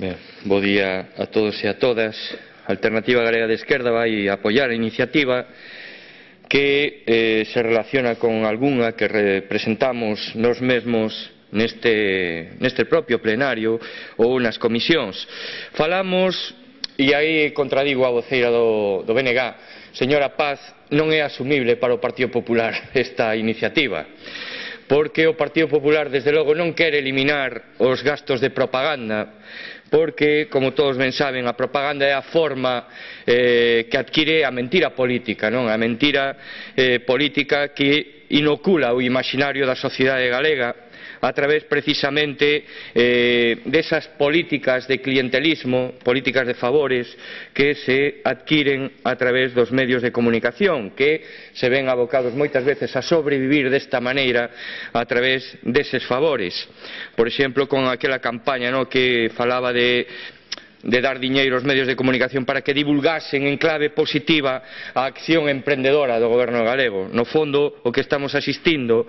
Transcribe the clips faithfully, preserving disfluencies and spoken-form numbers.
Ben, bo día a todos e a todas. A Alternativa Galega de Esquerda vai apoiar a iniciativa que eh, se relaciona con algunha que representamos nos mesmos neste, neste propio plenario ou nas comisións. Falamos, e aí contradigo a voceira do, do B N G, señora Paz, non é asumible para o Partido Popular esta iniciativa, porque o Partido Popular desde logo non quere eliminar os gastos de propaganda, porque, como todos ben saben, a propaganda é a forma eh, que adquire a mentira política, non? A mentira eh, política que inocula o imaginario da sociedade galega a través precisamente eh, desas políticas de clientelismo, políticas de favores que se adquiren a través dos medios de comunicación, que se ven abocados moitas veces a sobrevivir desta maneira a través deses favores. Por exemplo, con aquela campaña, no, que falaba de de dar diñeiro aos medios de comunicación para que divulgasen en clave positiva a acción emprendedora do goberno galego. No fondo, o que estamos asistindo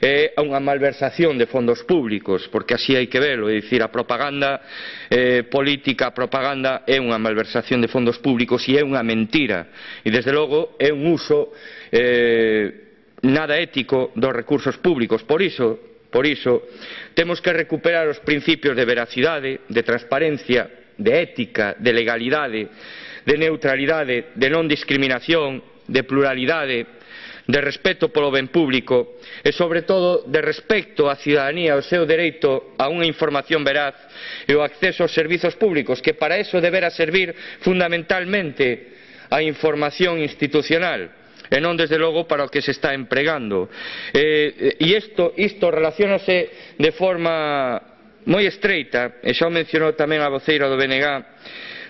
é a unha malversación de fondos públicos, porque así hai que velo, é dicir, a propaganda eh, política, a propaganda é unha malversación de fondos públicos e é unha mentira, e desde logo é un uso eh, nada ético dos recursos públicos. Por iso, por iso, temos que recuperar os principios de veracidade, de transparencia, de ética, de legalidade, de neutralidade, de non discriminación, de pluralidade, de respeto polo ben público e, sobre todo, de respecto á cidadanía, ao seu dereito a unha información veraz e o acceso aos servizos públicos, que para eso debera servir fundamentalmente a información institucional e non, desde logo, para o que se está empregando. Eh, e isto, isto relaciónase de forma moi estreita, e xa o mencionou tamén a voceira do B N G,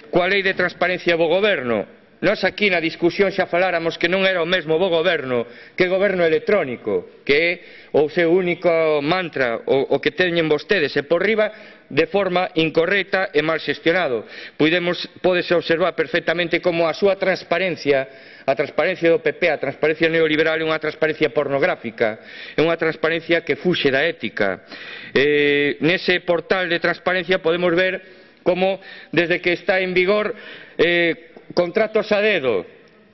coa lei de transparencia e bo goberno. Nós aquí na discusión xa faláramos que non era o mesmo bo goberno que goberno electrónico, que é o seu único mantra, o, o que teñen vostedes, e por riba de forma incorrecta e mal xestionado. Podemos, pódese observar perfectamente como a súa transparencia, a transparencia do P P, a transparencia neoliberal, é unha transparencia pornográfica, é unha transparencia que fuxe da ética. Eh, nese portal de transparencia podemos ver como, desde que está en vigor, eh, contratos a dedo,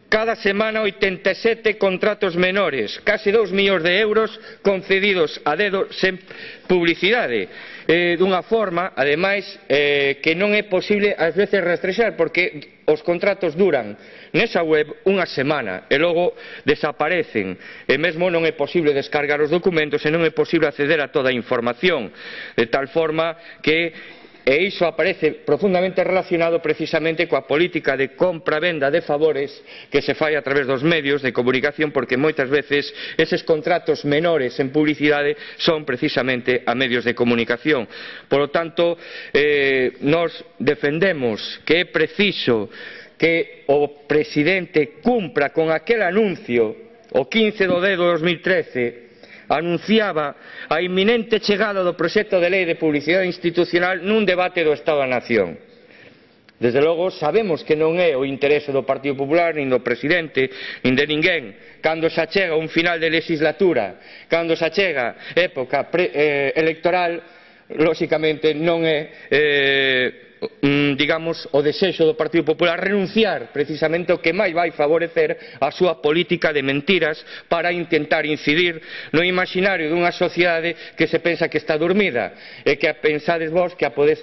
cada semana oitenta e sete contratos menores, case dous millóns de euros concedidos a dedo sen publicidade, eh, dunha forma, ademais, eh, que non é posible ás veces rastrexar, porque os contratos duran nesa web unha semana e logo desaparecen, e mesmo non é posible descargar os documentos e non é posible acceder a toda a información, de tal forma que e iso aparece profundamente relacionado precisamente coa política de compra-venda de favores que se fai a través dos medios de comunicación, porque moitas veces eses contratos menores en publicidade son precisamente a medios de comunicación. Por lo tanto, eh, nos defendemos que é preciso que o presidente cumpra con aquel anuncio o quince do dez do dos mil trece, anunciaba a inminente chegada do proxecto de lei de publicidade institucional nun debate do Estado da Nación. Desde logo, sabemos que non é o interese do Partido Popular, nin do presidente, nin de ninguén. Cando se achega un final de legislatura, cando se achega época pre, eh, electoral, lóxicamente non é eh, digamos, o desexo do Partido Popular renunciar precisamente ao que máis vai favorecer a súa política de mentiras para intentar incidir no imaginario dunha sociedade que se pensa que está dormida e que pensades vos que a podes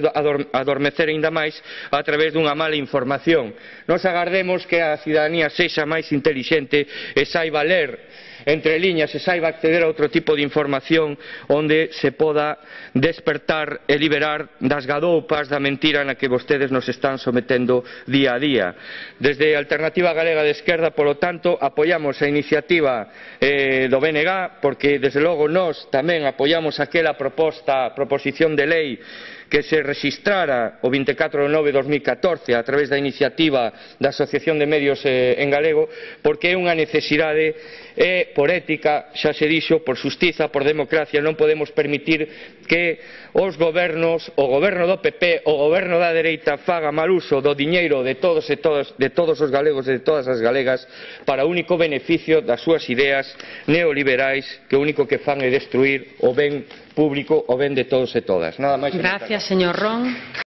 adormecer aínda máis a través dunha mala información. Nos agardemos que a cidadanía sexa máis intelixente e saiba ler entre liñas e saiba acceder a outro tipo de información onde se poda despertar e liberar das gadoupas da mentira na que vostedes nos están sometendo día a día. Desde a Alternativa Galega de Esquerda, polo tanto, apoiamos a iniciativa eh, do B N G, porque desde logo nós tamén apoiamos aquela proposta, proposición de lei que se rexistrara o vinte e catro de nove de dos mil catorce a través da iniciativa da Asociación de Medios eh, en Galego, porque é unha necesidade e por ética, xa se dixo, por xustiza, por democracia, non podemos permitir que os gobernos, o goberno do P P, o goberno da dereita faga mal uso do diñeiro de todos e todas, de todos os galegos e de todas as galegas para o único beneficio das súas ideas neoliberais, que o único que fan é destruir o ben público, o ben de todos e todas. Nada máis. Gracias, señor Ron.